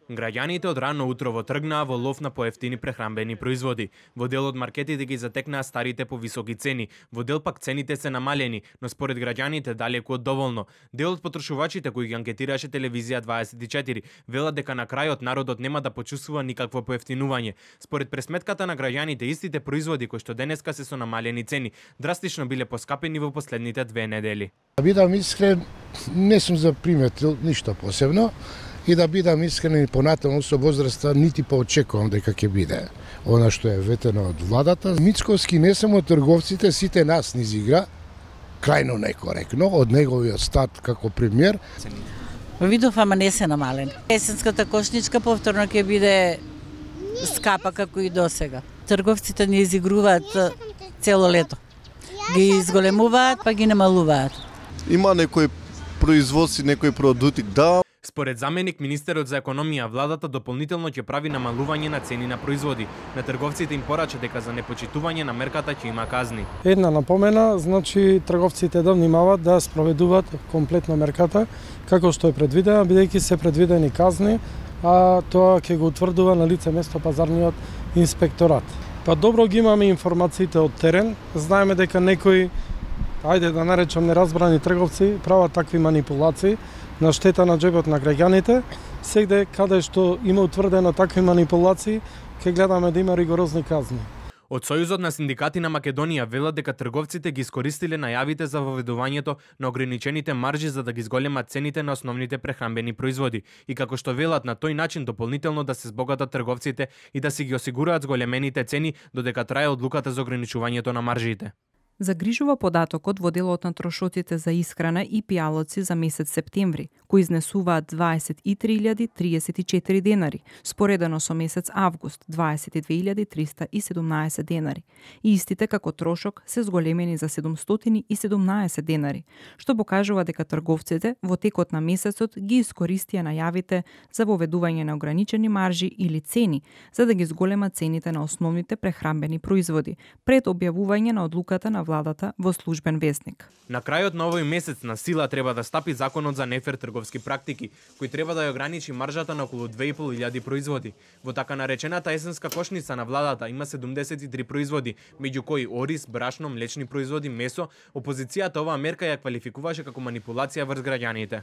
Граѓаните од рано утрово тргнаа во лов на поевтини прехранбени производи. Во дел од маркетите ги затекнаа старите по високи цени, во дел пак цените се намалени, но според граѓаните далеку од доволно. Дел од потрошувачите кои ги анкетираше телевизија 24 велат дека на крајот народот нема да почувствува никакво поевтинување. Според пресметката на граѓаните, истите производи кои што денеска се со намалени цени драстично биле поскапени во последните 2 недели. Да бидам искрен, не сум заприметил ништо посебно. И да бидам искрен и понатаму со возраста нити поочекувам дека ќе биде она што е ветено од владата. Мицковски не само трговците, сите нас низ игра, крајно некоректно, од неговиот старт како премиер. Видов, ама не се намалени. Есенската кошничка повторно ќе биде скапа како и досега. Трговците не изигруваат цело лето. Ги изголемуваат, па ги намалуваат. Има некои производства, некои продукти, да. Според заменик министерот за економија, владата дополнително ќе прави намалување на цени на производи. На трговците им порача дека за непочитување на мерката ќе има казни. Една напомена, значи трговците да внимават да спроведуваат комплетно мерката како што е предвидена, бидејќи се предвидени казни, а тоа ќе го утврдува на лице место пазарниот инспекторат. Па добро ги имаме информациите од терен, знаеме дека некои, ајде да наречам неразбрани трговци, прават такви манипулации на штета на џебот на граѓаните. Сегде каде што има утврдено такви манипулации, ќе гледаме да има ригорозни казни. Од Сојузот на синдикати на Македонија велат дека трговците ги искористиле најавите за воведувањето на ограничените маржи за да ги зголемат цените на основните прехранбени производи и како што велат на тој начин дополнително да се збогатат трговците и да си ги осигураат зголемените цени додека трае одлуката за ограничувањето на маржите. Загрижува податокот во делот на трошоците за исхрана и пијалоци за месец септември, кои изнесуваат 23.034 денари, споредено со месец август 22.317 денари. И истите како трошок се зголемени за 717 денари, што покажува дека трговците во текот на месецот ги искористија најавите за воведување на ограничени маржи или цени за да ги зголемат цените на основните прехранбени производи пред објавување на одлуката на владата во службен весник. На крајот на овој месец на сила треба да стапи законот за нефер трговски практики, кој треба да ја ограничи маржата на околу 2500 производи. Во така наречената есенска кошница на владата има 73 производи, меѓу кои ориз, брашно, млечни производи, месо. Опозицијата оваа мерка ја квалификуваше како манипулација врз граѓаните.